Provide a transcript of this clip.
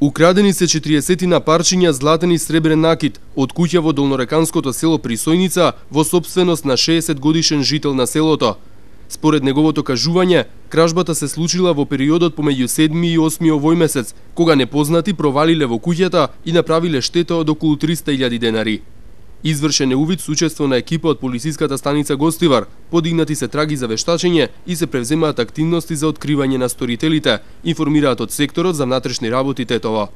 Украдени се 40 парчиња златен и сребрен накит од куќа во долнореканското село Присојница во сопственост на 60 годишен жител на селото. Според неговото кажување, кражбата се случила во периодот помеѓу 7 и 8 овој месец, кога непознати провалиле во куќата и направиле штета од околу 300.000 денари. Извршен е увид со учество на екипа од полициската станица Гостивар, подигнати се траги за вештачење и се превземаат активности за откривање на сторителите, информираат од секторот за внатрешни работи Тетово.